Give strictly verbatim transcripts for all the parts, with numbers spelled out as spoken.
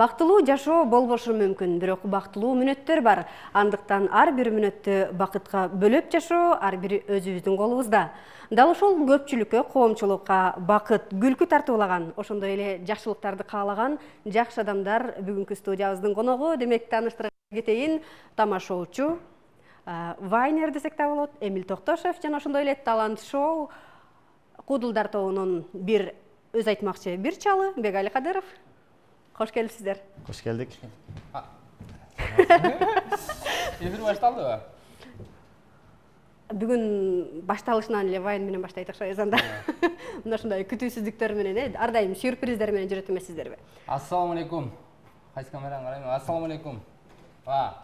Бактылуу жашоо болбошу мүмкүн, бирок бактылуу мүнөттөр бар. Андыктан ар бир мүнөттү бакытка бөлөп жашоо ар бир өзүбүздүн колубузда. Дал ошол көпчүлүккө, коомчулукка бакыт, күлкү тартуулаган, ошондой эле жакшылыктарды каалаган жакшы адамдар бүгүнкү студиябыздын коногу. Демек, тааныштырып кетейин, тамашоочу, вайнер десек да болот, Эмил Токтошев жана ошондой эле талант шоу Куудулдар тобунун бир өз айтмакчы бир чалы Бегали Кадыров. Хош келипсиздер. Хош келдик. Эфир башталдыбы? Бүгүн башталышынан эле вайн менен баштайт окшойбуз анда. Мына ушундай күтүүсүздүктөр менен, ар дайым сюрприздер менен жүрөт эмессиздерби? Ассаламу алейкум. Кайсы камераны карайм? Ассаламу алейкум. Ва,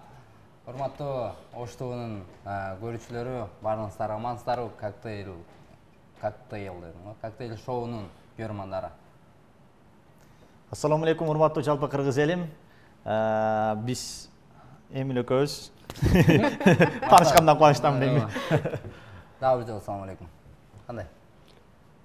урматтуу Ош тобунун көрүүчүлөрү, баарыңыздар амансыздарбы? Коктейл, коктейл, коктейл шоунун көрөрмандары. Ассаламу алейкум, урматтуу жалпы кыргыз элим. Биз Эмил экөөбүз таанышкандан кубанычтамын эми. Дагы бир жолу ассаламу алейкум. Кандай?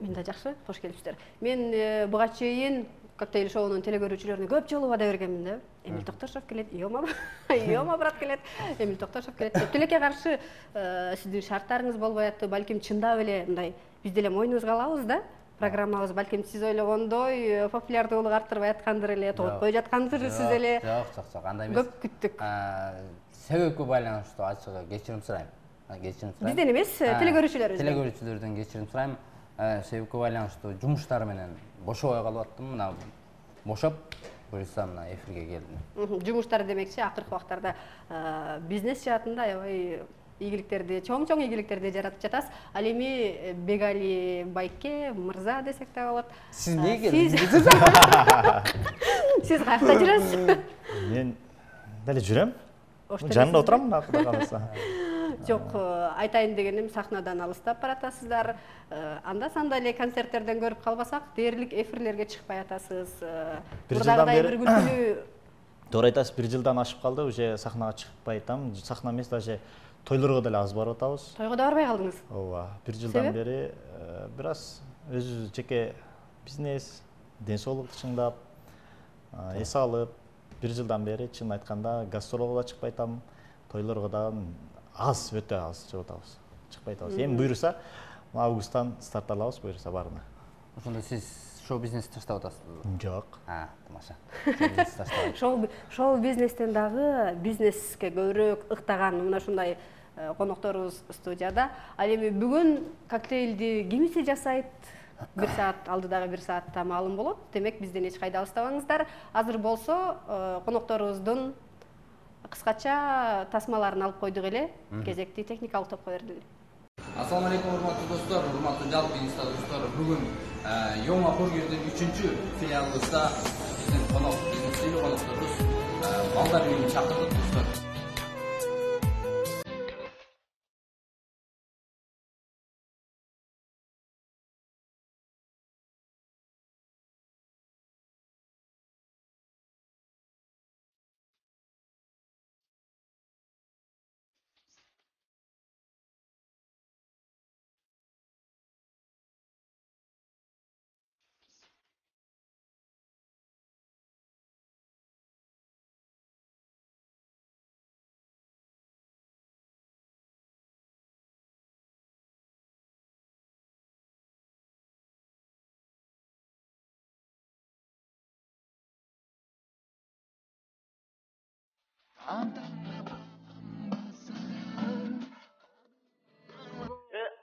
Мен да жакшы, кош келипсиздер. Мен буга чейин коктейл шоунун телекөрүүчүлөрүнө көп жолу убада бергенмин да. Эмил Токтошев келет, Йома, Йома брат келет, Эмил Токтошев келет. Тилекке каршы сиздин шарттарыңыз болбой атты, балким чындап эле мындай биз деле мойнубузга алабыз да. Программабыз балким сиз ойлогондой популярдуулук арттырбай аткандыр эле, тоготпой жаткандыр сиз эле. Жок, жок, жок, андай эмес. Көп күттүк. Себепке байланыштуу ачыгы кечирим сурайм. Кечирим сурайм. Бизден эмес, телекөрүүчүлөрүбүздөн. Телекөрүүчүлөрдөн кечирим сурайм. Себепке байланыштуу жумуштар менен бошобой калып аттым. Мына бошоп, буюрса мына эфирге келдим. Жумуштар демекчи, акыркы убактарда бизнес жаатында аябай ийгиликтерди, чоң-чоң ийгиликтерди жаратып жатасыз. Ал эми Бегали байке, мырза десек да болот. Сиз эмнеге келдиңиз? Сиз каякта жүрөсүз? Мен деле жүрөм. Жанында отурам, Кудай кааласа. Жок, айтайын дегеним, сахнадан алыстап баратасыздар. Анда санда эле концерттерден көрүп калбасак, дээрлик эфирлерге чыкпай атасыз. Бир жылдан бери бир күлкүлүү. Туура айтасыз, бир жылдан ашып калды, уже сахнага чыкпай атам. Сахна эмес, даже тойлорго деле аз барып атабыз. Тойго да барбай калдыңыз? Ооба, бир жылдан бери бир аз өзүбүз жеке бизнес, ден соолукту чыңдап, эс алып, бир жылдан бери чын айтканда гастролго да чыкпай атам, тойлорго да аз, өтө аз чыгып атабыз. Чыкпай атабыз. Эми буйруса, августтан старт алабыз, буйруса баарына. Ошондо сиз шоу бизнести таштап атасызбы? Жок. А, тамаша. Шоу бизнести таштабайт. Шоу шоу бизнестен дагы бизнеске көбүрөөк ыктаган мына ушундай конокторубуз студияда. Ал эми бүгүн коктейлди кимиси жасайт? Бир саат алдыдагы бир саатта маалым болот. Демек, бизден эч кайда алыстабаңыздар. Азыр болсо, конокторубуздун кыскача тасмаларын алып койдук эле. Кезекти техникалык топко бердиле. Ассаламу алейкум, урматтуу достор, урматтуу жалпы инста достор. Бүгүн Йома бургердин үчүнчү филиалыбызда биздин конок, биздин сыйлуу конокторубуз балдар үйүнүн чакырдык достор.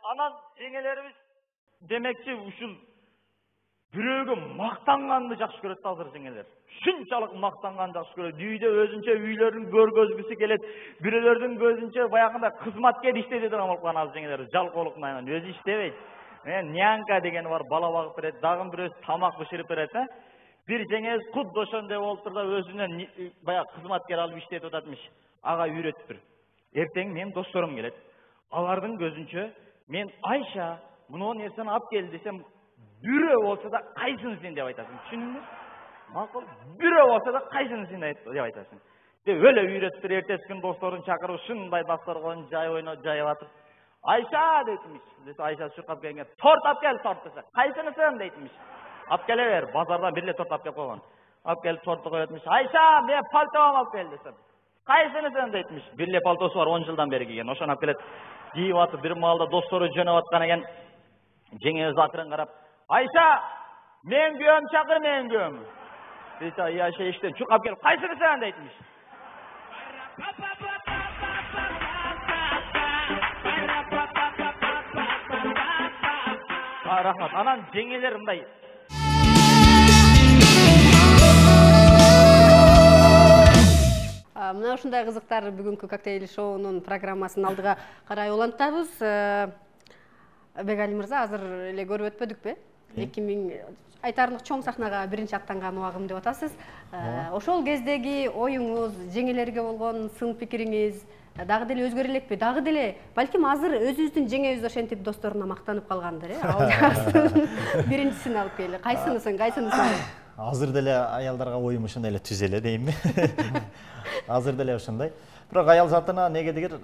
Анан жеңелерибиз демекчи ушул бирөөгө мактанганды жакшы көрөт да азыр жеңелер. Шунчалык мактанганды жакшы көрөт. Үйдө өзүнчө үйлөрүн көргөзгүсү келет. Бирөөлөрдүн көзүнчө баягында кызматкер иштейт турган болуп калган азыр жеңелер. Жалкоолук менен өзү иштебейт. Мен нянка дегени бар, бала багып берет, дагы бирөөсү тамак бышырып берет, э? Бир жеңебиз кудда ошондой болуптур да өзүнөн баягы кызматкер алып иштетип ататмыш. Ага үйрөтүптүр. Эртең менин досторум келет. Алардын көзүнчө мен Айша, мына нерсени алып кел десем, бирөө болсо да кайсыны сен деп айтасың. Түшүндүңбү? Макул. Бирөө болсо да кайсыны сен деп айтасың. Деп өлө үйрөтүптүр. Эртеси күн досторун чакырып, ушундай дасторкон жай ойноп, жайып атып, Айша дейтимиш. Десе Айша чуркап келгенге, торт алып кел, торт десе. Кайсынысын дейтимиш. Алып келе бер, базардан бир эле торт алып келип койгон. Алып келип торту коётмуш. Айша, мен пальтоmu алып кел десем. Кайсынысын дейтмиш. Бир эле пальтосу бар, он жылдан бери кийген. Ошону алып келет. Кийип атып, бир маалда достору жөнөп аткан экен. Жеңебиз акырын карап, Айша, мен күйөөм чакыр, мен күйөөм. Дейт, Айша иштен чукап келип, кайсынысын дейтмиш. Рахмат. Анан жеңелер мындай. Мына ушундай кызыктар бүгүнкү коктейль шоунун программасын алдыга карай улантабыз. Бегали мырза, азыр эле көрүп өтпөдүкпү? эки миң айтарлык чоң сахнага биринчи аттанган убагым деп атасыз. Ошол кездеги оюңуз, жеңелерге болгон сын пикириңиз дагы деле өзгөрө элекпи? Дагы деле балким азыр өзүбүздүн жеңебиз ошентип досторуна мактанып калгандыр, э? Ал биринчисин алып келди. Кайсынысын, кайсынысын? Азыр деле аялдарга оюм ушундай эле түз эле деймби? Азыр деле ушундай. Бирок аял затына негедигер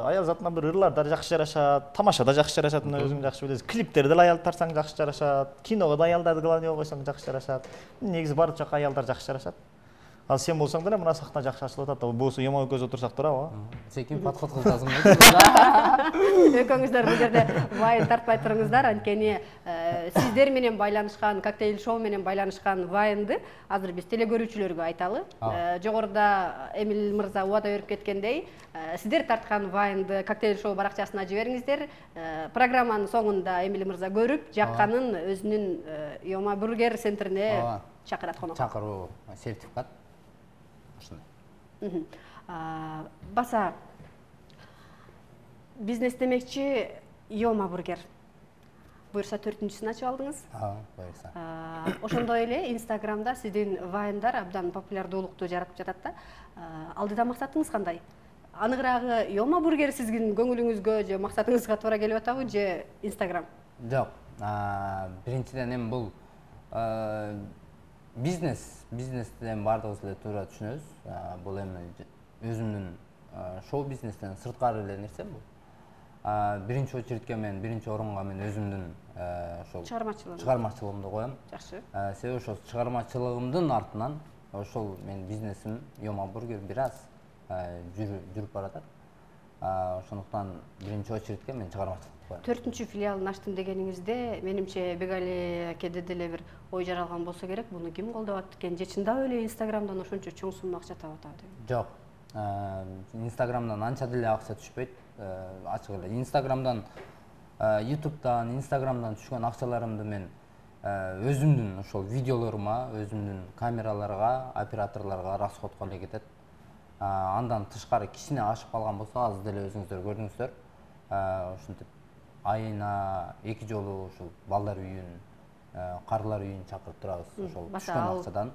аял затына бир ырларда жакшы жарашат, тамашада жакшы жарашат, мына өзүң жакшы билесиң. Клиптерде аял тартсаң жакшы жарашат, киного да аялдарды главныйга койсоң жакшы жарашат. Негизи баары жака аялдар жакшы жарашат. Ал сен болсоң деле мына сахна жакшы ачылып атат. Болсо Йома экөөбүз отурсак турабы? Сен ким подход кыласың? Экөөңүздөр бул жерде вайн тартпай туруңуздар, анткени сиздер менен байланышкан, коктейль шоу менен байланышкан вайнды азыр биз телекөрүүчүлөргө айталы. Жогоруда Эмил мырза убада берип кеткендей, сиздер тарткан вайнды коктейль шоу баракчасына жибериңиздер. Программанын соңунда Эмил мырза көрүп, жакканын өзүнүн Йома бургер центрине чакырат конокко. Чакыруу, сертификат. Баса бизнес демекчи Йома бургер. Буюрса төртүнчүсүн ачып алдыңыз. Буюрса. Ошондой эле Инстаграмда сиздин вайндар абдан популярдуулукту жаратып жатат да. Алдыда максатыңыз кандай? Аныгыраагы Йома бургер сиздин көңүлүңүзгө же максатыңызга туура келип атабы же Инстаграм? Жок. Биринчиден эми бул бизнес, бизнестен бардыгыбыз эле туура түшүнөбүз. Бул эми өзүмдүн шоу бизнестен сырткары эле нерсе бул. Биринчи очередке мен, биринчи орунга мен өзүмдүн ошол чыгармачылыгымды коем. Жакшы. Себеби ошол чыгармачылыгымдын артынан ошол мен бизнесим Йома бургер бир аз жүрүп баратат. Ошондуктан биринчи очередке мен чыгармачылыкты коем. Төртүнчү филиалын ачтым дегениңизде, менимче Бегали акеде деле бир ой жаралган болсо керек. Муну ким колдоп атат экен? Же чындап эле Инстаграмдан ошончо чоң сумма акча таап атабы деп? Жок. Инстаграмдан анча деле акча түшпөйт. Ачык эле. Инстаграмдан, ютубтан, Инстаграмдан түшкөн акчаларымды мен өзүмдүн ошол видеолорума, өзүмдүн камераларга, операторлорго расходко эле кетет. Андан тышкары кичине ашып калган болсо, азыр деле өзүңүздөр көрдүңүздөр. Ошентип айына эки жолу ушул балдар үйүн, карлар үйүн чакырып турабыз. Ошол түшкөн акчадан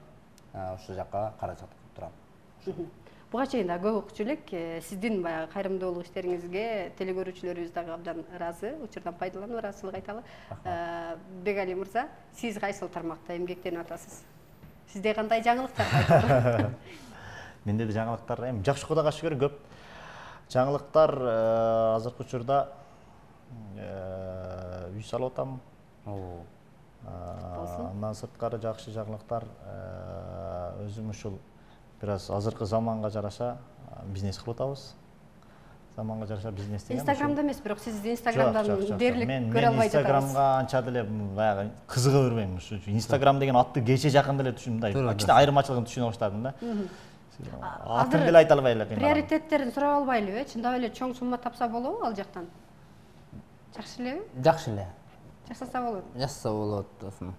ошол жакка каражат кылып турам. Буга чейин да көп укчу элек сиздин баягы кайрымдуулук иштериңизге телекөрүүчүлөрүбүз дагы абдан ыраазы, учурдан пайдаланып ыраазычылык айталы. Бегали мырза, сиз кайсыл тармакта эмгектенип атасыз? Сизде кандай жаңылыктар бар? Менде де жаңылыктар, эми жакшы Кудайга шүгүр көп. Жаңылыктар азыркы учурда үй салып атам. Андан сырткары жакшы жаңылыктар өзүм ушул бир аз азыркы заманга жараша бизнес кылып атабыз. Заманга жараша бизнес деген. Инстаграмда эмес, бирок сиз Инстаграмдан дээрлик көрө албай жатасыз. Мен Инстаграмга анча деле баягы кызыга бербейм. Инстаграм деген атты кече жакын деле түшүндүм. Кичине айырмачылыгын түшүнө баштадым да. Атын деле айта албай эле. Приоритеттерин сурап албайлыбы? Чындап эле чоң сумма тапса болобу ал жактан? Жакшы элеби? Жакшы эле. Жасаса болот. Жасаса болот досум.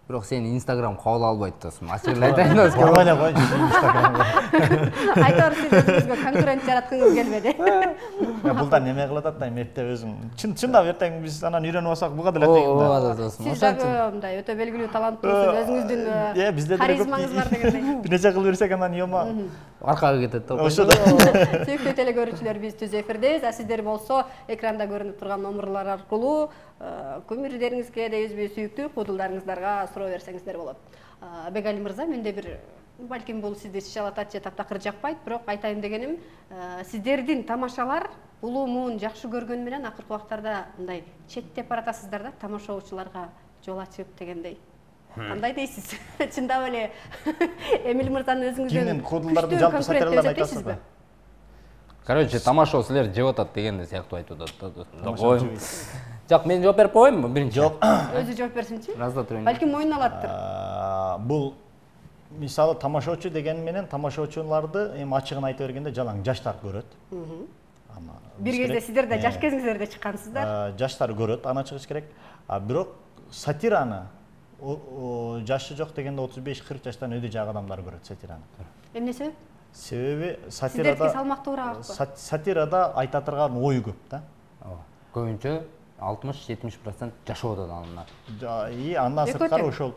Бирок сени Инстаграм кабыл албайт досум. Ачык эле айтайын досум. Кабыл эле койчу Инстаграмга. Айтор сиз өзүңүзгө конкурент жараткыңыз келбеди. Бул да неме кылып атат да, эметте өзүң. Чындап эртең биз анан үйрөнүп алсак буга деле тегин да. Ооба досум. Сиз дагы мындай өтө белгилүү таланттуусуз, өзүңүздүн харизмаңыз бар дегендей. Бир нече кылып берсек анан Йома аркага кетет да. Ошо. Сүйүктүү телекөрүүчүлөр, биз түз эфирдебиз. А сиздер болсо экранда көрүнүп турган номурлар аркылуу көмүрдериңизге дейбизби, сүйүктүү куудулдарыңыздарга суроо берсеңиздер болот. Бегали мырза, менде бир балким бул сизди шишалатат же таптакыр жакпайт, бирок айтайын дегеним, сиздердин тамашалар улуумун жакшы көргөнү менен акыркы убактарда мындай четтеп баратасыздар да, тамашаучуларга жол ачып дегендей. кандай дейсиз? Чындап эле Эмиль мырзанын өзүңүздөн Кимдин куудулдардын жалпы сатираларын айтасызбы? Короче, тамашо силер жеп атат дегенде сыяктуу айтып атат. Жок, мен жооп берип коеюнбу биринчи? Жок. Өзү жооп берсинчи? Разда турайын. Балким мойнуна алаттыр. Бул мисалы тамашоочу деген менен тамашоочуларды эми ачыгын айта бергенде жалаң жаштар көрөт. Бир кезде сиздер да жаш кезиңиздерде чыккансыздар. Жаштар көрөт, аны чыгыш керек. А бирок сатираны жашы жок дегенде отуз беш кырк жаштан өйдө жак адамдар көрөт сатираны. Эмне себеп? Себеби Сиздердики сатирада салмактуураакпы? Сатирада айта турган ой көп да. Ооба. Көбүнчө алтымыш жетимиш процент жашоо атат андан. И андан сырткары ошол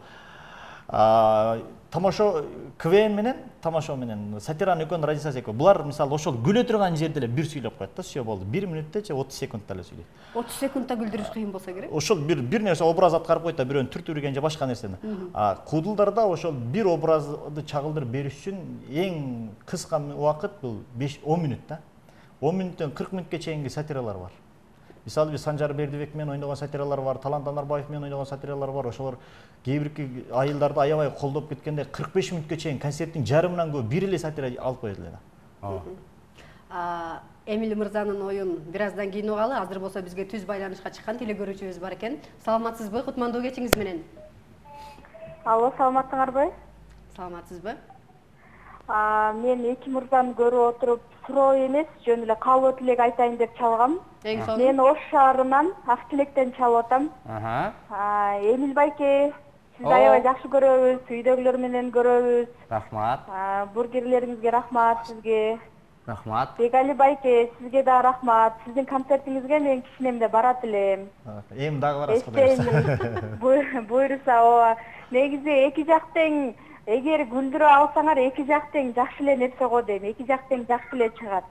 тамашо КВН менен тамашо менен сатиранын экөөнүн разницасы экөө. Булар мисалы ошол күлө турган жерде эле бир сүйлөп коет да, все болду. бир мүнөттө же отуз секундта эле сүйлөйт. отуз секундта күлдүрүш кыйын болсо керек. Ошол бир бир нерсе образ аткарып коет да, бирөөнү түртүргөн же башка нерсени. А куудулдарда ошол бир образды чагылдырып бериш үчүн эң кыска убакыт бул беш он мүнөт да. он мүнөттөн кырк мүнөткө чейинки сатиралар бар. Мисалы биз Санжар Бердибек менен ойногон сатиралар бар, Талант Анарбаев менен ойногон сатиралар бар. Ошолор кээ бир айылдарды аябай колдоп кеткенде кырк беш мүнөткө чейин концерттин жарымынан көп бир эле сатира алып коет эле да. Ооба. Эмиль мырзанын оюн бир аздан кийин угалы. Азыр болсо бизге түз байланышка чыккан теле көрүүчүбүз бар экен. Саламатсызбы? Кутмандуу кечиңиз менен. Алло, саламатсыңарбы? Саламатсызбы? Мен эки мырзаны көрүп отуруп, суроо эмес, жөн эле каалоо тилек айтайын деп чалгам. Мен Ош шаарынан Ак Тилектен чалып атам. Эмиль байке, сизди аябай жакшы көрөбүз, үйдөгүлөр менен көрөбүз. Рахмат. Бургерлериңизге рахмат сизге. Рахмат. Бегали байке, сизге да рахмат. Сиздин концертиңизге мен кичинемде барат элем. Эми дагы барасыз кудайым. Буйруса, ооба. Негизи эки жак тең, эгер күлдүрө алсаңар эки жак тең жакшы эле нерсе го дейм. Эки жак тең жакшы эле чыгат.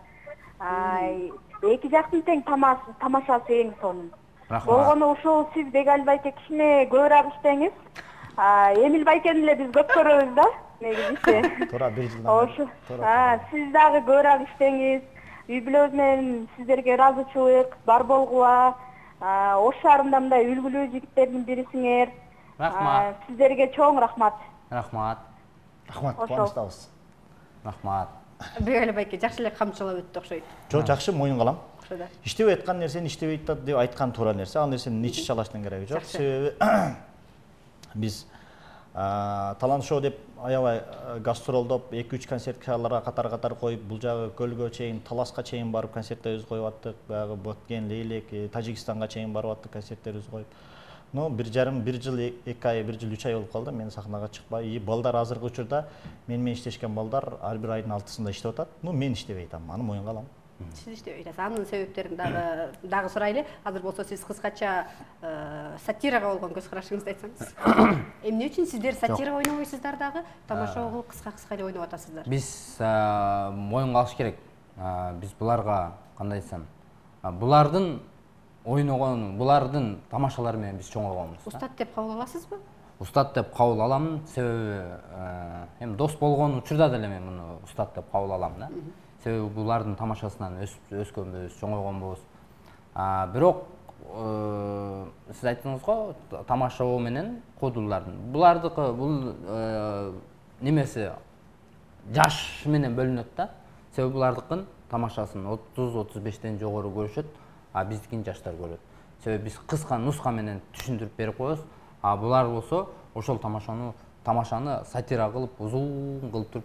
Эки жактын тең тамашасы эң сонун. Болгону ушул сиз Бегали байке кичине көбүрөөк иштеңиз. Эмиль байкени эле биз көп көрөбүз да. Негизи. Туура бир жылдан. Сиз дагы көбүрөөк иштеңиз. Үй бүлөбүз менен сиздерге ыраазычылык бар болгула. Ош шаарында мындай үлгүлүү жигиттердин бирисиңер. Рахмат. Сиздерге чоң рахмат. Рахмат. Рахмат, кубанычтабыз. Рахмат. Бегали байке жакшы эле камчылап өттү окшойт. Жок, жакшы, моюнга алам. Иштебей аткан нерсени иштебейт деп айткан туура нерсе. Ал нерсени ичи чалаштын кереги жок. Себеби биз талант шоу деп аябай гастролдоп эки үч концертларга катар-катар коюп, бул жагы Көлгө чейин, Таласка чейин барып концерттерибизди коюп аттык. Баягы Боткен, Лейлек, Тажикстанга чейин барып аттык концерттерибизди коюп. Ну, бир жарым, бир жыл, эки ай, бир жыл, үч ай болуп калды. Мен сахнага чыкпай, и балдар азыркы учурда мен менен иштешкен балдар ар бир айдын алтысында иштеп атат. Ну, мен иштебей атам, аны моюнга алам. Сиз иштебей атасыз. Анын себептерин дагы дагы сурайлы. Азыр болсо сиз кыскача сатирага болгон көз карашыңызды айтсаңыз. Эмне үчүн сиздер сатира ойнобойсуздар дагы? Тамашаны кыска-кыска эле ойноп атасыздар. Биз моюнга алыш керек. Биз буларга кандай десем, булардын ойногон, булардын тамашалары менен биз чоңойгонбуз. Устат деп кабыл аласызбы? Устат деп кабыл алам, себеби эми дос болгон учурда деле мен муну устат деп кабыл алам да. Себеби булардын тамашасынан өскөнбүз, чоңойгонбуз. Бирок сиз айттыңыз го, тамаша менен куудулдардын. Булардыкы бул немеси жаш менен бөлүнөт да. Себеби булардыкын тамашасын отуз отуз бештен жогору көрүшөт, а биздикин жаштар көрөт. Себеби биз кыска нуска менен түшүндүрүп берип коебуз. А булар болсо ошол тамашаны тамашаны сатира кылып, узун кылып туруп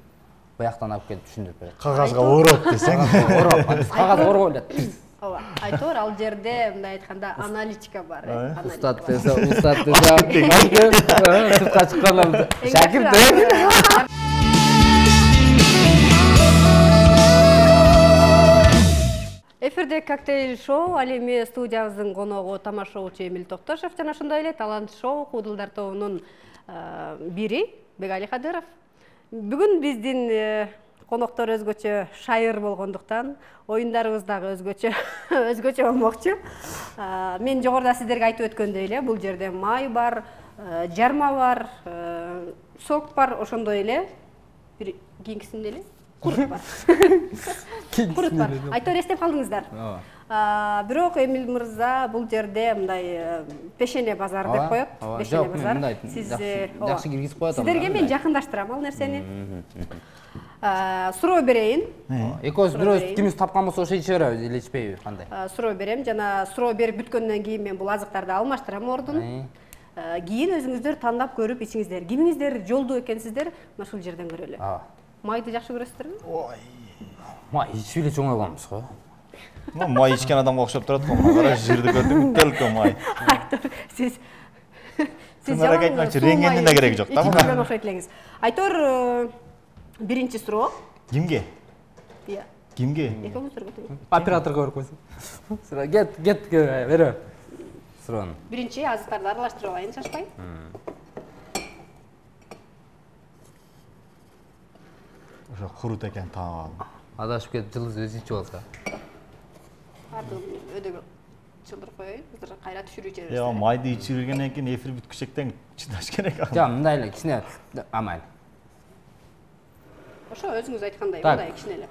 баяктан алып келип түшүндүрүп берет. Кагазга ороп десең. Ороп, биз кагазга ороп элет. Ооба, айтор ал жерде мындай айтканда аналитика бар. Устат десе, устат десе, сыртка чыкканда шакирт. Эфирде коктейль шоу, ал эми студиябыздын коногу тамашоочу Эмиль Токтошов жана ошондой эле талант шоу куудулдар тобунун бири Бегали Кадыров. Бүгүн биздин коноктор өзгөчө шайыр болгондуктан оюндарыбыз дагы өзгөчө өзгөчө болмокчу. Мен жогоруда сиздерге айтып өткөндөй эле, бул жерде май бар, жарма бар, сок бар, ошондой эле бир кийинкисинде эле курут бар. Курут бар. Айтор эстеп калдыңыздар. Бирок Эмил мырза бул жерде мындай пешене базар деп коет. Пешене базар. Сиз жакшы киргизип коет. Сиздерге мен жакындаштырам ал нерсени. Суроо берейин. Экөөбүз бирөөбүз кимибиз тапкан болсо ошо иче беребиз, эле ичпейби, кандай? Суроо берем жана суроо берип бүткөндөн кийин мен бул азыктарды алмаштырам ордун. Кийин өзүңүздөр тандап көрүп ичиңиздер. Кимиңиздер жолдуу экенсиздер, мына ушул жерден көрөлү. Майды жакшы көрөсүздөрбү? Ой. Май ичип эле чоң алганбыз го. Май ичкен адамга окшоп турат го. Кара жырды көрдүм, төлкө май. Сиз Сиз жана айтмакчы, рентгендин да кереги жок да. Ичиңизден окшойт элеңиз. Айтор биринчи суроо. Кимге? Иә. Кимге? Экөөңүздөргө. Операторго берип койсун. Суроо кет, кет, бере. Суроону. Биринчи азыктарды аралаштырып алайын, шашпай. Ошо курут экен таап алып. Адашып кетип жылдыз өзү ичип алса. Ардын өдөгө чылдырып коеюн, азыр кайра түшүрүү жиберебиз. Я майды ичип жүргөндөн кийин эфир бүткүчөктөн чыдаш керек. Жок, мындай эле кичине амай. Ошо өзүңүз айткандай, мындай кичине эле.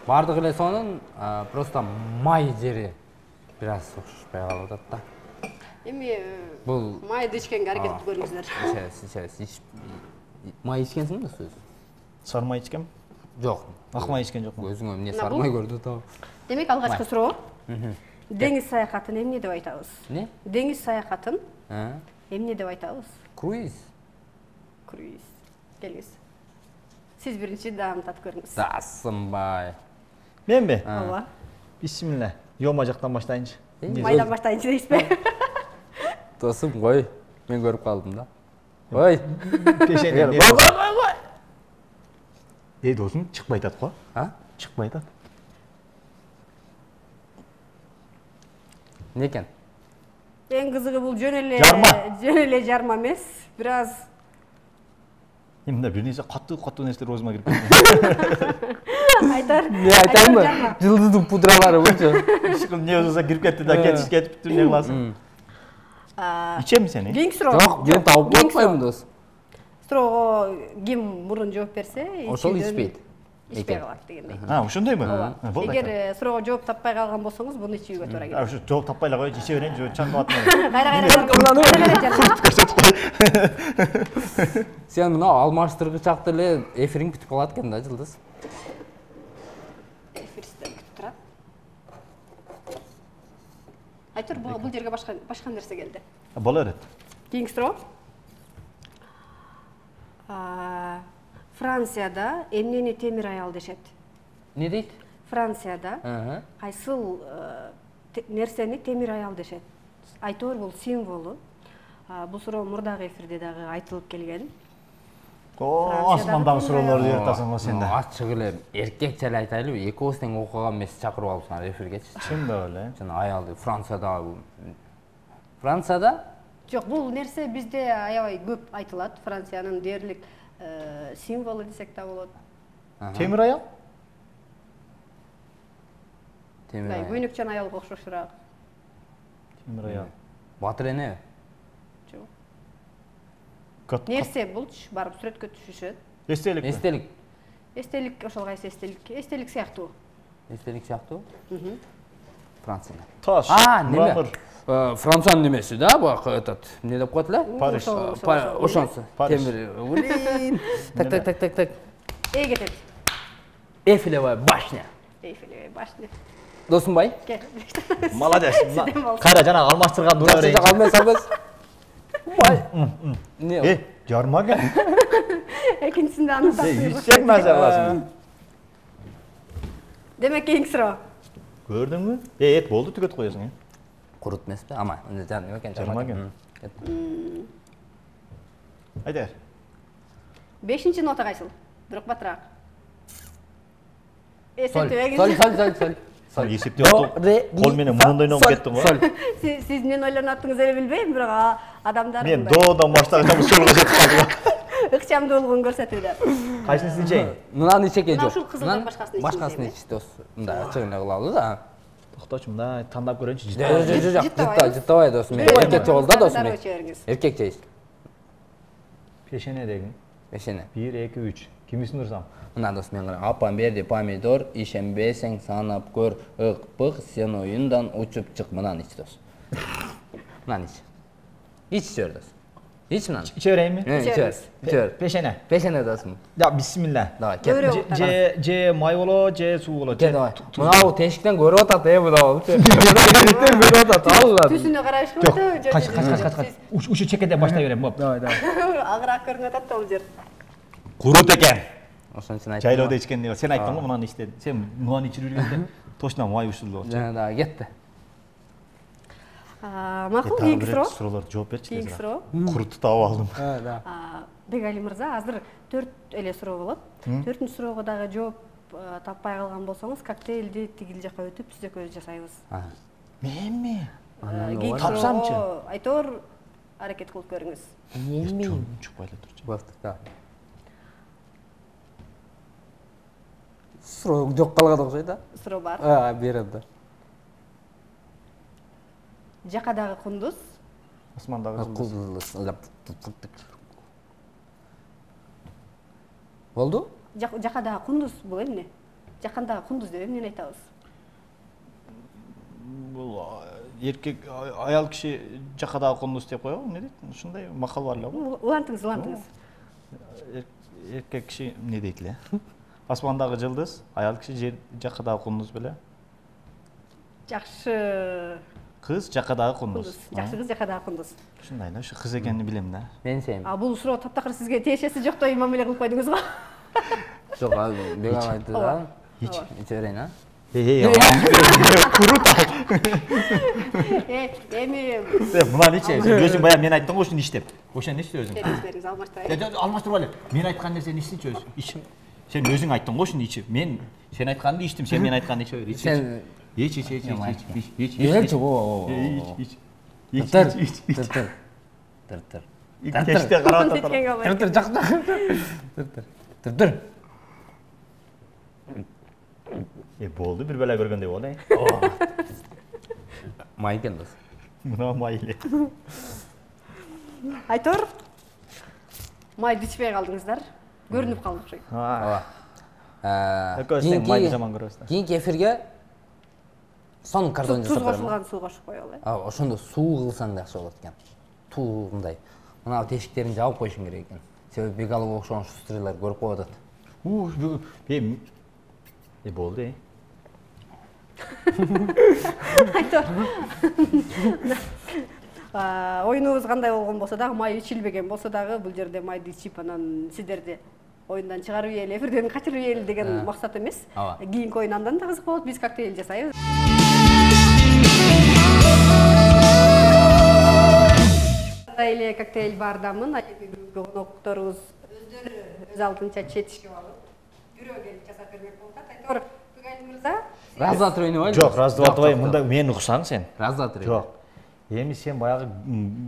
Бардык эле сонун, просто май жери бир аз окшошпой калып атат да. Эми бул майды ичкенге аракет көрүңүздөр. Ичебиз, ичебиз. Май ичкенсиңби сиз? Сары май ичкем? Жок. Ак май ичкен жокмун. Өзүңө эмне сары май көрдү да. Демек алгачкы суроо. Деңиз саякатын эмне деп айтабыз? Не? Деңиз саякатын эмне деп айтабыз? Круиз. Круиз. Келиңиз. Сиз биринчи даам татып көрүңүз. Дасынбай. Менби? Ооба. Бисмилла. Йома жактан баштайынчы. Майдан баштайынчы дейсизби? Досум кой, мен көрүп калдым да. Ой. Пешене. Кой, кой, кой. Эй, досум, чыкпай атат го? А? Чыкпай атат. Не экен? Эң кызыгы бул жөн эле жарма. Жөн эле жарма эмес, бир аз Эмне бир нерсе каттуу-каттуу нерселер өзүмө кирип кетти. Айтар. Не айтайынбы? Жылдыздын пудралары болчу. Ишким не болсо кирип кетти да, кетиш кетип бүттү, не кыласың? Ичемби сени? Кийинки суроо. Жок, мен табып атпайм дос. Суроого ким мурун жооп берсе, ошол ичпейт. Ичпей калат дегендей. А, ошондойбу? Болду. Эгер суроого жооп таппай калган болсоңуз, буну ичүүгө туура келет. А, ошо жооп таппай эле коюучу, иче берейин, жөө чаңкап атмайм. Кайра-кайра. Сен мына алмаштыргычакты эле эфириң бүтүп калат экен да, Жылдыз. Эфир сизден күтүп турат. Айтор, бул жерге башка башка нерсе келди. Боло берет. Кийинки суроо. Францияда эмнени темир аял дешет? Не дейт? Францияда кайсыл нерсени темир аял дешет? Айтор бул символу. Бул суроо мурдагы эфирде дагы айтылып келген. О, асмандагы суроолорду үйрөтасың го сен да. Ачык эле эркекче эле айтайлыбы, экөөбүз тең окуган эмес чакырып алыпсыңар эфиргечи. Чындап эле. Жана аялды Францияда Францияда? Жок, бул нерсе бизде аябай көп айтылат. Франциянын дээрлик символу десек да болот. Темир аял? Темир аял. Көйнөкчөн аялга окшошураак. Темир аял. Батыр эне? Жок. Нерсе булчу, барып сүрөткө түшүшөт. Эстелик. Эстелик. Эстелик, ошол кайсы эстелик? Эстелик сыяктуу. Эстелик сыяктуу? Францияда. Таш. А, неме? Франциянын немеси да, бак этот, эмне деп коет эле? Париж. Ошонсу. Темир. Так, так, так, так, так. Эй кетет. Эйфелевая башня. Эйфелевая башня. Досумбай? Молодец. Кайра жана алмаштырган дура берейин. Калмай салбыз. Бай. Не? Э, жарма экен. Экинчисинде аны тапсырып. Ичсек мажаласын. Демек кийинки суроо. Көрдүңбү? Э, эт болду, түгөт коесуң, э. Курут эмеспи? Ама, жарма экен, жарма экен. Айдар. Бешинчи нота кайсыл? Бирок батыраак. Соль, соль, соль, соль, соль. Соль эсептеп отуп, кол менен мурундай ойноп кеттиң го. Соль. Сиз эмнени ойлонуп аттыңыз эле билбейм, бирок адамдар мен доодан баштаган солго жетип калдым. Ыкчамдуулугун көрсөтүүдө. Кайсысын ичейин? Мынаны ичеке жок. Ушул кызылдан башкасын ичейин. Башкасын ич, дос. Мындай ачык эле кылалы да. Токточу, мындай тандап көрөйүнчү. Жок, жок, жок, жыттабай, жыттабай досум. Эркекче бол да, досум. Эркекче ич. Пешене дегин. Пешене. бир, эки, үч. Кимисин урсам? Мына дос мен карап, апам берди помидор, ишенбесең санап көр, ыкпык, сен оюндан учуп чык, мынаны ич дос. Мынаны ич. Ич жөр дос. Ич мынаны. Иче берейинби? Иче бер. Иче бер. Пешене. Пешене досум. Да, бисмилла. Давай, кет. Же же май боло, же суу боло. Кет давай. Мына тешиктен көрүп атат, э, мына болчу. Тешиктен көрүп атат, алла. Түсүнө карашып Жок, атат. кач кач кач кач. Ушу чекеден баштай берем, боп. Давай, давай. Агыраак көрүнүп атат да бул жер. Курут экен. Ошон үчүн айттым. Жайлоодо ичкенде сен айттың го мынаны ичти. Сен мынаны ичирип жүргөндө точно май ушулду болчу. Жана дагы кетти. Макул, кийинки суроо. Суроолорду жооп берчи. Кийинки суроо. Курутуп таап алдым. Да, да. Бегали мырза, азыр төрт эле суроо болот. Төртүнчү суроого дагы жооп таппай калган болсоңуз, коктейлди тигил жака өтүп биз экөөбүз жасайбыз. Менми? Кийинки Тапсамчы? суроо Айтор аракет кылып көрүңүз. Эми Чукпай эле турчу. болду, да. Суроо жок калган окшойт да? Суроо бар. А, берем да. Жакадагы кундуз, Османдагы жылдыз. Болду? жакадагы кундуз бул эмне? Жакандагы кундуз деп эмнени айтабыз? Бул эркек аял киши жакадагы кундуз деп коебу, эмне дейт? Ушундай макал бар эле го. Улантыңыз, улантыңыз. Эркек киши эмне дейт эле? Асмандагы жылдыз, аял киши жер жакадагы кундуз беле. Жакшы Кыз жакадагы кундуз. кундуз. Жакшы кыз жакадагы кундуз. Ушундай эле, ушу кыз экенин билем да. Мен сен. А бул суроо таптакыр сизге тиешеси жоктой мамиле кылып койдуңуз го? Жок, бек айтты да. Ич. Иче берейин, а? Эй, курут. Э, эми Мынаны иче. Өзүң баягы мен айттым го ушуну ич деп. Ошону ичти өзүң. бериңиз, алмаштырайын. Алмаштырбай эле. Мен айткан нерсени ичсинчи өзү. Ич. Сен өзүң айттың го ушуну ичип. Мен сен айтканды ичтим, сен мен айтканды иче бер. Сен Ич, ич, ич, ич, ич, ич. Ичелчи, о. Ич, ич. Тыр, тыр, тыр. Тыр, тыр. Теште карап атат. Тыр, тыр, жак, жак. Тыр, тыр. Тыр, тыр. Э, болду, бир бала көргөндөй болду, э. Май экен дос. Мына май эле. Айтор, майды ичпей калдыңыздар. Көрүнүп калды окшойт. Ооба. Экөөбүз тең майды жаман көрөбүз да. Кийинки эфирге сонун картон Туз жасап берем. кошулган суу кошуп коелу, э. А, ошондо суу кылсаң да жакшы болот экен. Туундай. Мына тешиктерин жаап коюшуң керек экен. Себеби бегалга окшогон шустрыйлар көрүп коюп атат. У, э, э, болду, э. Айтор. Оюнубуз кандай болгон болсо дагы, май ичилбеген болсо дагы, бул жерде майды ичип, анан сиздерди оюндан чыгарып ийели, эфирден качырып ийели деген максат эмес. Кийинки оюн андан да кызык болот, биз коктейл жасайбыз. Эле коктейл бардамын, айыгы конокторубуз өздөрү өз алдынча четишип алып, бирөө келип жасап бермек болуп атат. Айтор, Бегали мырза, Раз, два, три ойнобойбу? Жок, раз, два, три, мында мени уксаң сен. Раз, два, три. Жок. Эми сен баягы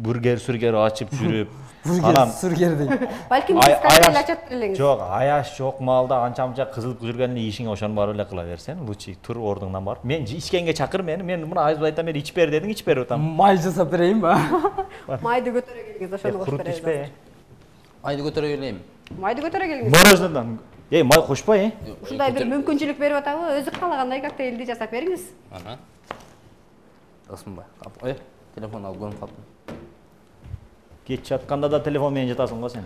бургер-сүргер ачып жүрүп, Бургер, сүргер дейт. балким сиз коктейл ачат элеңиз. Жок, аяш жок маалда анча-мынча кызылып жүргөн эле ишиңе ошону барып эле кыла берсен, лучше тур ордуңдан барып. Мен ичкенге чакыр мени, мен мына айыз айтам, мен ичип бер дедиң, ичип берип атам. Май жасап берейинби? Майды көтөрө келиңиз, ошону кошуп Курут беребиз. ичпе. Майды көтөрө келейин. Майды көтөрө келиңиз. Мороженодан. Эй, май кошпой, э? Ушундай бир мүмкүнчүлүк берип атабы, өзү каалагандай коктейлди жасап бериңиз. Ана. Досумбай. Ой, телефон алып көрүп калдым. Кеч жатканда да телефон менен жатасың го сен.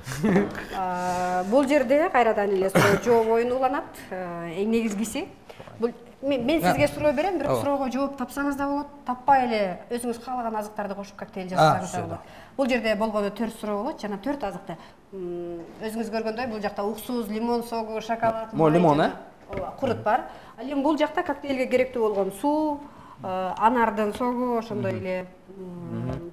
Бул жерде кайрадан эле суроо жооп оюну уланат. Эң негизгиси бул мен сизге суроо берем, бирок суроого жооп тапсаңыз да болот, таппай эле өзүңүз каалаган азыктарды кошуп коктейл жасасаңыз да болот. Бул жерде болгону төрт суроо болот, жана төрт азыкты. Өзүңүз көргөндөй бул жакта уксус, лимон согу, шоколад, Мо лимон, э? Ооба, курут бар. Ал эми бул жакта коктейлге керектүү болгон суу, анардын согу, ошондой эле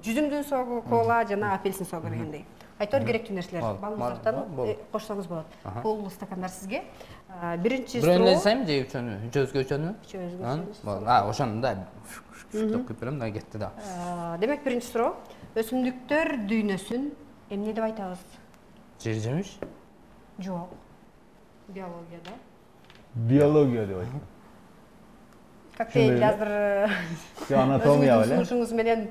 жүзүмдүн согу, кола жана апельсин согу дегендей. Айтор керектүү нерселер. Балмуздардан кошсоңуз болот. Бул стакандар сизге. Биринчи суроо. Бирөөнү элсем же үчөөнү? Үчөөбүзгө үчөөнү? Үчөөбүзгө. А, ошону да шуштап күйүп берем да кетти да. Демек биринчи суроо. Өсүмдүктөр дүйнөсүн эмне деп айтабыз? Жер жемиш? Жок. Биологияда. Биология деп айтам. Коктейл азыр Анатомия беле. Сунушуңуз менен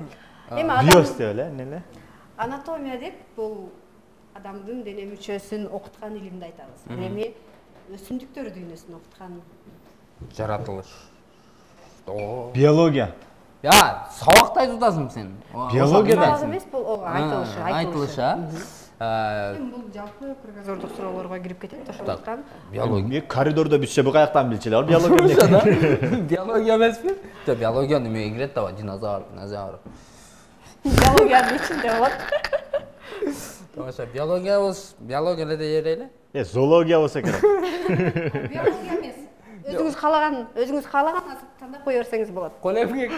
эми Биос деп эле, эмне эле? анатомия деп бул адамдын дене мүчөсүн окуткан илимди айтабыз. Эми өсүмдүктөр дүйнөсүн окуткан жаратылыш. Биология. Я, сабакты айтып атасың сен. Биологияда эмес, бул айтылышы, айтылышы. Эми бул жалпы кругозордук суроолорго кирип кетет, ошондуктан биология. Мен коридордо бүтсө бу каяктан билчү эле, биология. Биология эмеспи? Жок, биология немеге кирет да, динозавр, динозавр. биологиянын ичинде болот. Ошо биологиябыз, биология эле дейеле. Э, зоология болсо керек. Биология эмес. Өзүңүз каалаган, өзүңүз каалаган азык тандап кое берсеңиз болот. Колемгек.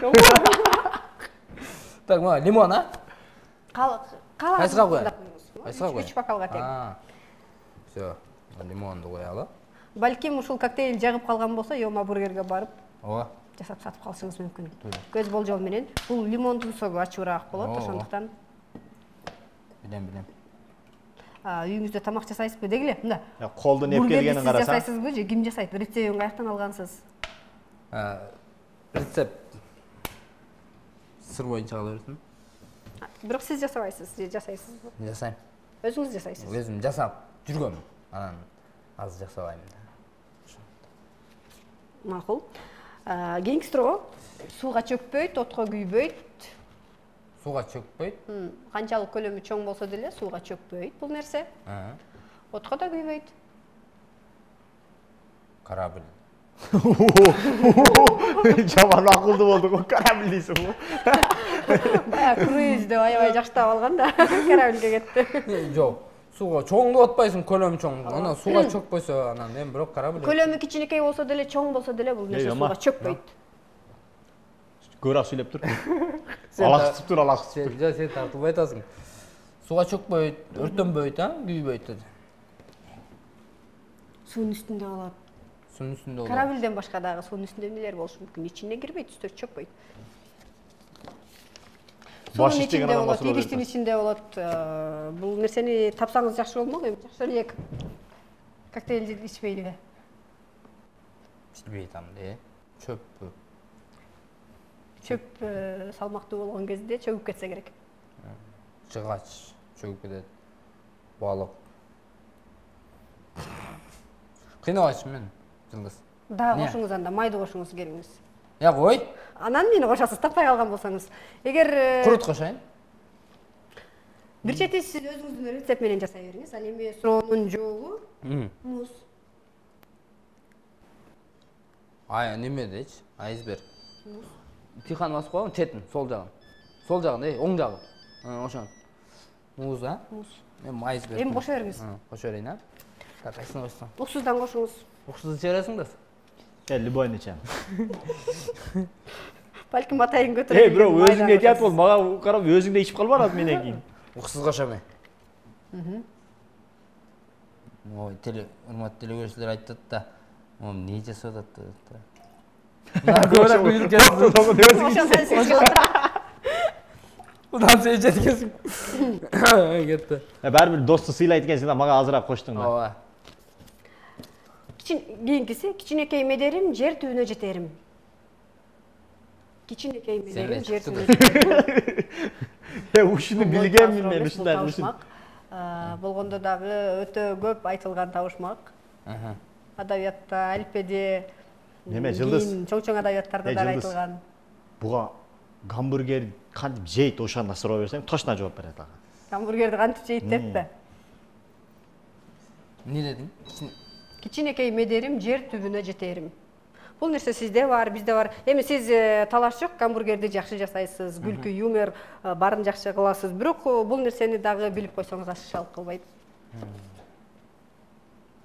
Так, мына лимон, а? Каалаган коелу? Кайсыга коелу? Үч бокалга тең. Всё, лимонду коелу. Балким ушул коктейль жагып калган болсо, Йома бургерге барып, ооба, жасап сатып калышыңыз мүмкүн. Көз болжол менен бул лимондун согу ачуураак болот, ошондуктан. Билем, билем. Үйүңүздө тамак жасайсызбы дегиле? Мында. Колдун эп келгенин караса. Сиз жасайсызбы же ким жасайт? Рецептин каяктан алгансыз? Рецепт сыр боюнча кала берсин. Бирок сиз жасабайсыз же жасайсызбы? Жасайм. Өзүңүз жасайсыз. Өзүм жасап жүргөм. Анан аз жасабайм да. Макул. Кийинки суроо. Сууга чөкпөйт, отко күйбөйт. Сууга чөкпөйт. Канчалык көлөмү чоң болсо деле сууга чөкпөйт бул нерсе. Отко да күйбөйт. Корабль. Жаман акылдуу болдук, корабль дейсиңби? Бая круиз деп аябай жакштап алган да, корабльге кетти. Жок. Сууга чоң деп атпайсың, көлөмү чоң. Анан сууга чөкпөсө, анан эми бирок корабль. Көлөмү кичинекей болсо деле, чоң болсо деле бул нерсе сууга чөкпөйт. Көбүрөөк сүйлөп тур. Алаксып тур, алаксып. Жок, сен тартылбай атасың. Сууга чөкпөйт, өртөнбөйт, а? Күйбөйт деди. Суунун үстүндө болот. Суунун үстүндө болот. Корабльден башка дагы суунун үстүндө эмнелер болушу мүмкүн? Ичине кирбейт, үстү чөкпөйт. Суунун ичинде болот, игичтин ичинде болот. Бул нерсени тапсаңыз жакшы болмок, эми жакшы эле коктейлди ичпейли. Билбей атам де. Чөппү. Чөп салмактуу болгон кезде чөгүп кетсе керек. Жыгач чөгүп кетет. Балык. Кыйнабайсың мен, Жылдыз. Да, кошуңуз анда, майды кошуңуз келиңиз. Я кой. Анан мени кошосуз, таппай калган болсоңуз. Эгер курут кошоюн. Бир чети сиз өзүңүздүн рецепт менен жасай бериңиз. Ал эми суроонун жообу муз. Ай, немедечи? Айсберг. Тихан басып коюң, четин, сол жагын. Сол жагын, эй, оң жагы. Ошон. Муз, а? Муз. Эми айсберг. Эми кошо бериңиз. Кошо берейин, а? Так, кайсына койсоң? Уксуздан кошуңуз. Уксузду чыгарасың да? Э, любойну чам. Балким атайын көтөрөт. Эй, бирок өзүңө айтат бол, мага карап өзүң да ичип калып барат менен кийин. Уксуз кошом. Мм. Ой, теле, урматтуу телекөрүүчүлөр айтат да, мом не жасап атат да. Көбүрөөк буйрук жазып. Удан сен жеткесиң. Кетти. Баары бир досту сыйлайт экенсиң да, мага азыраак коштуң да. Ооба. Кийинкиси, кичинекей медерим, жер түбүнө жетерим. Кичинекей медерим, жер түбүнө жетерим. Э, ушуну билгенмин мен, ушундай ушун. Болгондо дагы өтө көп айтылган табышмак. Адабиятта, алфбеде, неме Жылдыз? Чоң-чоң адабияттарда да айтылган. Буга гамбургер кантип жейт, ошондо суроо берсең, точно жооп берет ага. Гамбургерди кантип жейт деппи? Эмне дедиң? Кичинекей медерим, жер түбүнө жетерим. Бул нерсе сизде бар, бизде бар. Эми сиз талаш жок, гамбургерди жакшы жасайсыз, күлкү, юмор барын жакшы кыласыз. Бирок бул нерсени дагы билип койсоңуз ашыкчалык кылбайт.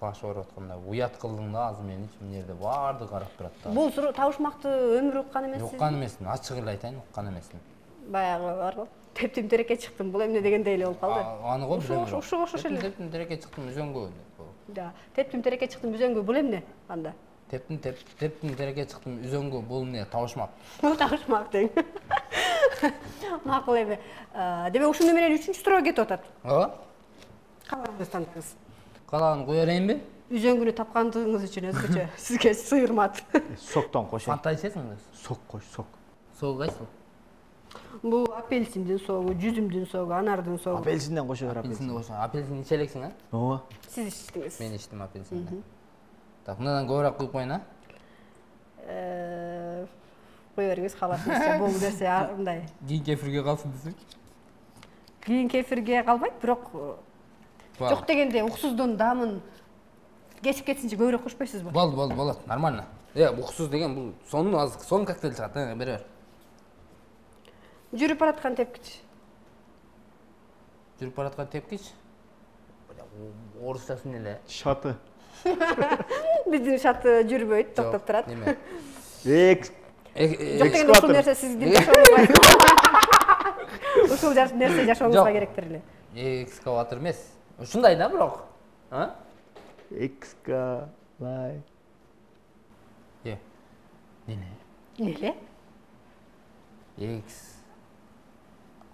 Баш ооруп атканда уят кылдың да, азыр мен эч эмнерде барды карап турат да. Бул табышмакты өмүр уккан эмессиз? Уккан эмесмин, ачык эле айтайын, уккан эмесмин. Баягы барбы? Тептим тереке чыктым, бул эмне дегендей эле болуп калды. Аны го билем. Ошо ошо эле. Тептим тереке чыктым үзөңгө. Да, тептим тереке чыктым үзөңгө, бул эмне анда? Тептим тептим тереке чыктым үзөңгө, бул эмне? Табышмак. Бул табышмак тең. Макул эми. Демек ушуну менен үчүнчү суроо кетип атат. Ооба. Калганыңызды тандыңыз. Калаган кое берейинби? Үзөңгүнү тапкандыгыңыз үчүн өзгөчө сизге сыйырмат. Соктон кошо. Фанта ичесиң да? Сок кош, сок. Сок кайсы? Бул апельсиндин согу, жүзүмдүн согу, анардын согу. Апельсинден кошо бер. Апельсинди кошо. Апельсин иче элексиң, а? Ооба. Сиз ичтиңиз. Мен ичтим апельсинди. Так, мындан көбүрөөк куюп коеюн, а? Э, кое бериңиз, кааласаңыз, бул нерсе мындай. Кийин кефирге калсын десек. Кийин кефирге калбайт, бирок жок дегенде уксуздун даамын кесип кетсинчи көбүрөөк кошпойсузбу? Болду, болду, болот. Нормально. Э, уксуз деген бул сонун азык, сонун коктейль чыгат, бери бер. Жүрүп бараткан тепкич. Жүрүп бараткан тепкич. Орусчасы эмне эле? Шаты. Биздин шаты жүрбөйт, токтоп турат. Неме? Экс. Жок дегенде ушул нерсе сиздин жашооңузга. Ушул нерсе жашооңузга керектир эле. Экскаватор эмес. Ушундай да, бирок. А? Экскалай. Е. Нене? Эле? Экс.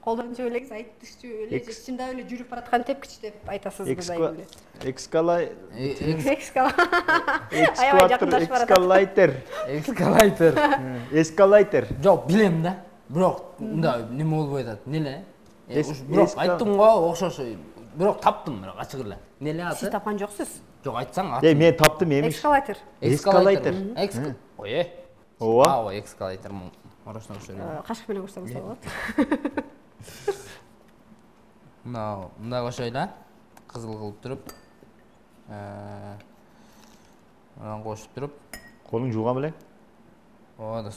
Колдон жөбөлеңиз, айтышчу эле, чындап эле жүрүп бараткан тепкич деп айтасызбы дайым эле. Экскалай. Экскалай. Экскаватор, экскалайтер. Экскалайтер. Эскалайтер. Жок, билем да. Бирок мындай неме болбой атат. Неле? Бирок айттым го, окшош. Бирок таптым, бирок ачык эле. Неле аты? Сиз тапкан жоксуз. Жок, айтсаң аты. Э, мен таптым эмиш. Эскалайтер. Эскалайтер. Экс. Ой. Ооба. А, ой, эскалайтер. Орусча окшойт. Кашык менен көрсөңүз болот. Мына, мындай кошойлу. Кызыл кылып туруп. Э, мына кошуп туруп. Колуң жууган белең? Ооба да.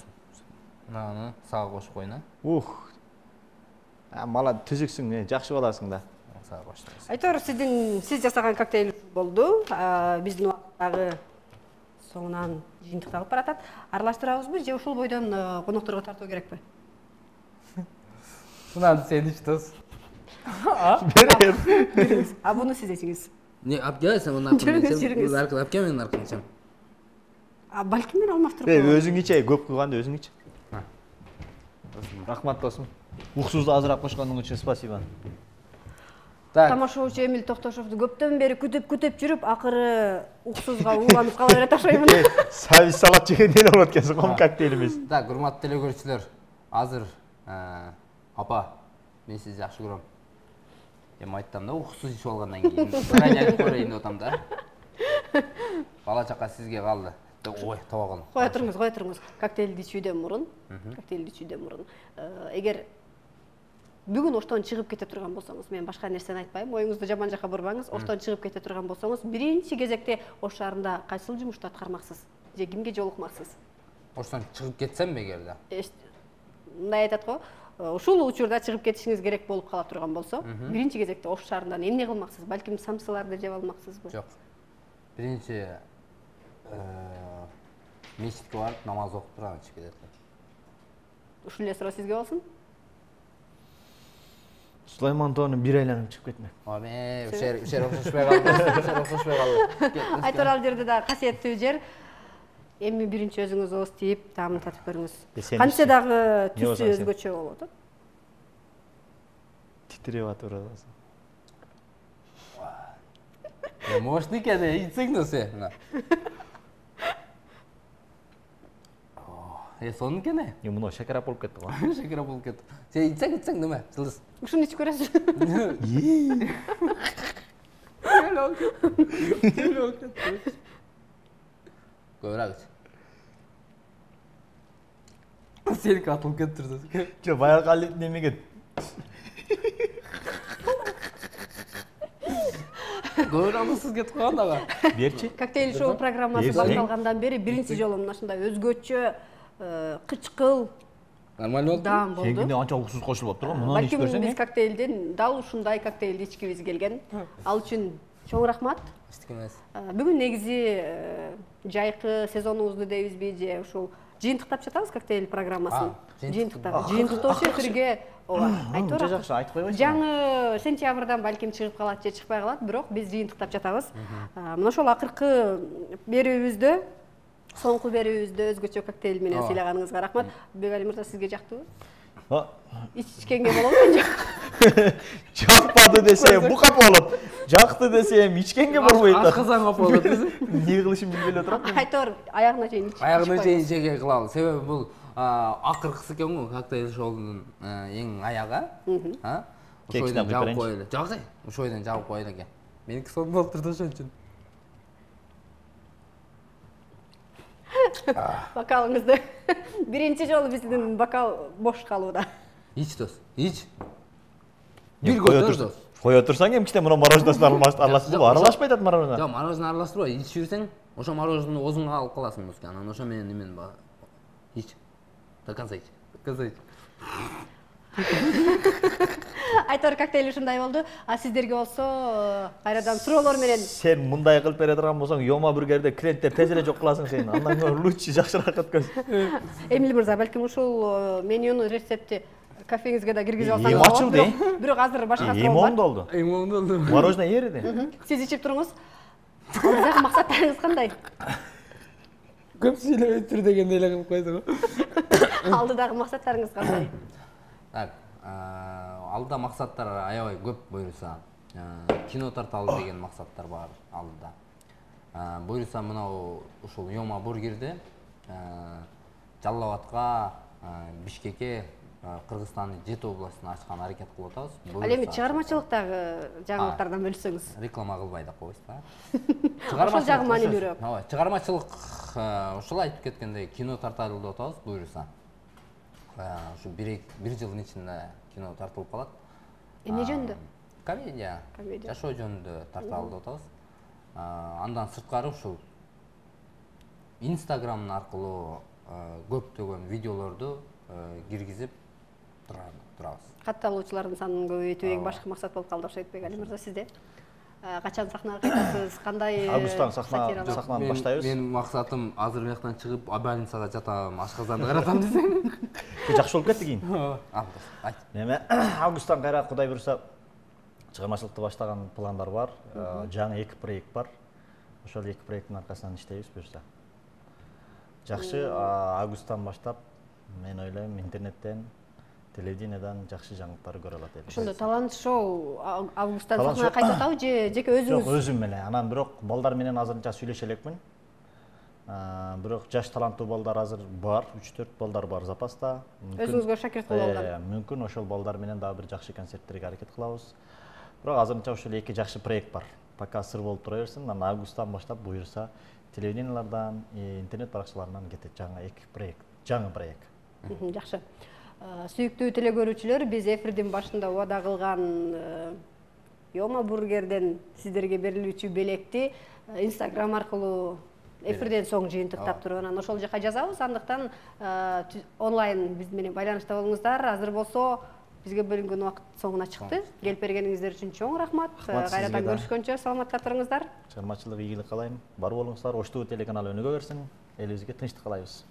Мынаны сага кошуп коюн, а? Ух. А, мала түзүксүң, жакшы баласың да. Сага коштум. Айтор, сиздин сиз жасаган коктейль болду. Биздин убакыттагы соңунан жыйынтыкталып баратат. Аралаштырабызбы же ушул бойдон конокторго тартуу керекпи? Мынаны сен ичтес. Берем. А буну сиз ичиңиз. Не, апка, сен мына Жүрүңүз, жүрүңүз. аркылы апка менен аркылы ичем. А балким мен алмаштырып Э, коебу. өзүң иче, көп кылганда өзүң ич. Рахмат досум. Уксузду азыраак кошкондуң үчүн спасибо. Так. Тамашоочу Эмил Токтошовду көптөн бери күтүп-күтүп жүрүп, акыры уксузга ууланып кала берет окшоймун. Сабиз салат жегенде эле болот экенсиң, ком коктейлибиз. Так, урматтуу телекөрүүчүлөр, азыр апа, мен сизди жакшы көрөм. Эми айттым да, уксуз ичип алгандан кийин бир айып көрөйүн деп атам да. Бала чака сизге калды. Ой, таба калдым. Кое туруңуз, кое туруңуз. Коктейлди ичүүдөн мурун, коктейлди ичүүдөн мурун, эгер бүгүн оштон чыгып кете турган болсоңуз, мен башка нерсени айтпайм, оюңузду жаман жакка бурбаңыз. Оштон чыгып кете турган болсоңуз, биринчи кезекте Ош шаарында кайсыл жумушту аткармаксыз? Же кимге жолукмаксыз? Оштон чыгып кетсем эгерде. Мындай айтат го, ушул учурда чыгып кетишиңиз керек болуп кала турган болсо, биринчи кезекте Ош шаарында эмне кылмаксыз? Балким самсыларды жеп алмаксызбы? Жок. Биринчи мечитке барып намаз окуп туруп анан чыгып кетет. Ушул эле суроо сизге болсун. Сулайман тоонун бир айланып чыгып кетме. Аме, ушер ушер окшошпой калды. Ушер окшошпой калды. Айтор, ал жерде да касиеттүү жер. Эми биринчи өзүңүз ооз тийип, таамын татып көрүңүз. Кантсе дагы түсү өзгөчө болот. Титиреп атып атасың. Э, может экен, ичсең да сен. Э, сонун экен э. Е, мына шакарап болуп кетти го. Шекера болуп кетти. Сен ичсең, ичсең деме, жылдыз. Ушуну ичип көрөсүз. Көбүрөөк ич. Сеники атылып кетти. Жо, баягы ал немеге Көбүрөөк сиз кетип калган ага. берчи. Коктейль шоу программасы башталгандан бери биринчи жолу мына ушундай өзгөчө, кычкыл Нормально болду. даам болду. Сенгине анча уксуз кошулуп туруп, мунун ичип Балким көрсөң. биз коктейлден дал ушундай коктейлди ичкибиз келген. Ал үчүн чоң рахмат. Эчтеке. Бүгүн негизи жайкы сезонубузду дейбизби же ушул жыйынтыктап жатабыз коктейль программасын. Жыйынтыктап. Жыйынтыктоочу эфирге ооба, айтор. Анча жакшы айтып койбойсуң. Жаңы сентябрдан балким чыгып калат же чыкпай калат, бирок биз жыйынтыктап жатабыз. Мына ошол акыркы берүүбүздө, соңку берүүбүздө өзгөчө коктейль менен сыйлаганыңызга рахмат. Бекали мырза, сизге жактыбы? Ичкенге болобу же? Жакпады десем, букап болот. Жакты десем, ичкенге болбойт. Акызаңа болот. Эмне кылышым билбей эле турам. Айтор, аягына чейин ичип. Аягына чейин жеге кылалы. Себеби бул акыркысы экен го коктейль шоунун эң аягы. А? Ошо бойдон жабып коелу. Жок, ошо бойдон жабып коелу экен. Меники сонун болуп турду ошон үчүн. Бокалыңызды биринчи жолу биздин бокал бош калууда. Ич дос, ич. Бир көтөр дос. Кое турсаң эмчите мына мороженосын аралашпайбы? Аралашпай атат мороженое. Жок, мороженое аралаштырбай, ичип жүрсөң, ошо мороженону оозуңа алып каласың доска. Анан ошо менен немен ба. Ич. До конца ич. До конца ич. Айтор коктейль ушундай болду. А сиздерге болсо кайрадан суроолор менен сен мындай кылып бере турган болсоң, Йома бургерде клиенттер тез эле жок кыласың сен. Андан көрө лучше жакшыраак өткөз. Эмил мырза, балким ушул менюнун рецепти кафеңизге да киргизип алсаңыз. Эми ачылды. Бирок азыр башка Эми оңдо болду. Эң оңдо болду. Мороженое эриди. Сиз ичип туруңуз. Алдагы максаттарыңыз кандай? Көп сүйлөбөй тур дегендей эле кылып койду го. Алдыдагы максаттарыңыз кандай? Так, алдыда максаттар аябай көп буюрса. Кино тарталы деген максаттар бар алдыда. Буюрса мынау ушул Йома бургерде Жалал Абадка, Бишкекке, Кыргызстандын жети областына ачкан аракет кылып атабыз. Ал эми чыгармачылыктагы жаңылыктардан бөлүсөңүз. Реклама кылбай да койбуз да. Ошол жагы маанилүүрөөк. Ооба, чыгармачылык ушул айтып кеткендей кино тарталы деп атабыз буюрса. Ушу бир жылдын ичинде кино тартылып калат. Эмне жөнүндө? Комедия. Жашоо жөнүндө тарталы деп атабыз. Андан сырткары ушул Instagram аркылуу көптөгөн видеолорду киргизип турабыз. Катталуучулардын санын көбөйтүү эң башкы максат болуп калды окшойт бек. Али мырза, сизде? Качан сахнага кайтасыз? Кандай? Августтан сахнаны баштайбыз. Менин максатым азыр бияктан чыгып, больницага жатам, ашказанды каратам десем. Жакшы болуп кетти кийин. Август. Айт. Эме августтан кайра Кудай буйруса чыгармачылыкты баштаган пландар бар. Жаңы эки проект бар. Ошол эки проекттин аркасынан иштейбиз буюрса. Жакшы, августтан баштап мен ойлойм интернеттен, телевидениядан жакшы жаңылыктар көрө алат элек. Ошондо талант шоу августтан сахнага кайтып атабы же жеке өзүңүз? Жок, өзүм эле. Анан бирок балдар менен азырынча сүйлөшө элекмин. Бирок жаш таланттуу балдар азыр бар, үч төрт балдар бар запаста. Өзүңүзгө шакирт кылып алган. Мүмкүн ошол балдар менен дагы бир жакшы концерттерге аракет кылабыз. Бирок азырынча ушул эки жакшы проект бар. Пока сыр болуп тура берсин. Анан августтан баштап буюрса телевидениялардан, интернет баракчаларынан кетет жаңы эки проект, жаңы проект. Жакшы. Сүйүктүү теле көрүүчүлөр, биз эфирдин башында убада кылган Йома бургерден сиздерге берилүүчү белекти Instagram аркылуу эфирден соң жыйынтыктап туруп, анан ошол жака жазабыз. Андыктан онлайн биз менен байланышта болуңуздар. Азыр болсо бизге бөлүнгөн убакыт соңуна чыкты. Келип бергениңиздер үчүн чоң рахмат. Кайрадан көрүшкөнчө саламатта туруңуздар. Чыгармачылык ийгилик каалайм. Бар болуңуздар. Ош ТВ телеканалы өнүгө берсин. Элибизге тынчтык каалайбыз.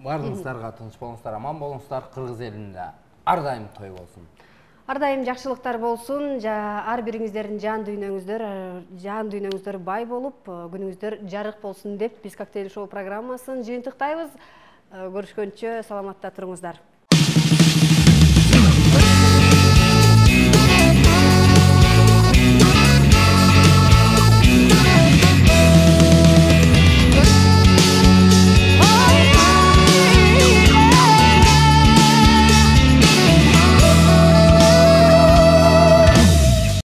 Баарыңыздарга тынч болуңуздар, аман болуңуздар. Кыргыз элинде ар дайым той болсун. Ар дайым жакшылыктар болсун. Ар бириңиздердин жан дүйнөңүздөр, жан дүйнөңүздөр бай болуп, күнүңүздөр жарык болсун деп биз коктейль шоу программасын жыйынтыктайбыз. Көрүшкөнчө саламатта туруңуздар.